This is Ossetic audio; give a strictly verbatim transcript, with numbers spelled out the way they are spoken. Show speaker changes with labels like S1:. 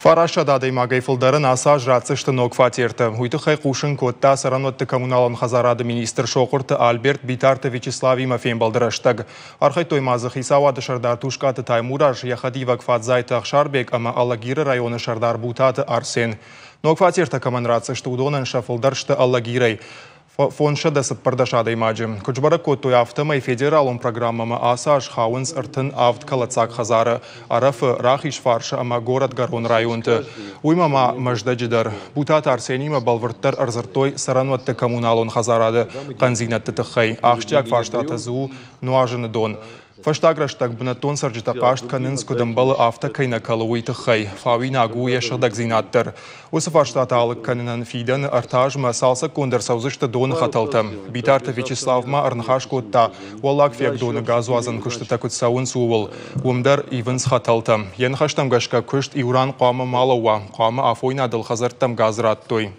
S1: Фарастсӕдӕ адӕймагӕй фылдӕрӕн ацы аз ратдзысты ног фатертӕ. Уый тыххӕй хъусын кодта цӕрӕнуӕтты коммуналон хӕдзарады министр Сохъуырты Альберт Битарты Вячеславимӕ фембӕлды рӕстӕг. Архайдтой ма дзы хицауады сӕрдар Тускъаты Таймураз, йӕ хӕдивӕг Фадзайты Ӕхсарбег ӕмӕ Алагиры районы сӕрдар Бутаты Арсен. Ног фатертӕ кӕмӕн ратдзысты, уыдонӕн сӕ фылдӕр сты Алагирӕй. Фондзсӕдӕ цыппӕрдӕс адӕймаджы. Куыд сбӕрӕг кодтой, афтӕмӕй федералон программӕмӕ ацы аз хауынц ӕртын авд кӕлӕддзаг хӕдзары Ӕрӕфы, Рахизфарсы ӕмӕ Горӕтгӕрон районты. Уыимӕ ма Мӕздӕджы дӕр. Бутаты Арсенимӕ бӕлвырддӕр ӕрдзырдтой цӕрӕнуӕтты коммуналон хӕдзарады хъӕндзинӕдты тыххӕй. Ахсджиаг фарстатӕ дзы у нуазыны дон. Фӕстаг рӕстӕг бынӕттон цӕрджытӕ хъаст кӕнынц, куыд ӕмбӕлы, афтӕ кӕй нӕ кӕлы, уый тыххӕй. Фауинаг у йӕ сыгъдӕгдзинад дӕр. Уыцы фарстатӕ алыг кӕнынӕн фидӕны ӕртӕ азмӕ цалцӕггонд ӕрцӕудзысты доны хӕтӕлтӕ. Битарты Вячеслав ма ӕрныхас кодта, Уӕллаг Фиагдоны газуадзӕн куыстытӕ куыд цӕуынц, ууыл. Уым дӕр ивынц хӕтӕлтӕ. Йӕ ныхӕстӕм гӕсгӕ куыст иу ран хъуамӕ ма лӕууа, хъуамӕ афойнадыл хӕдзӕрттӕм газ радтой.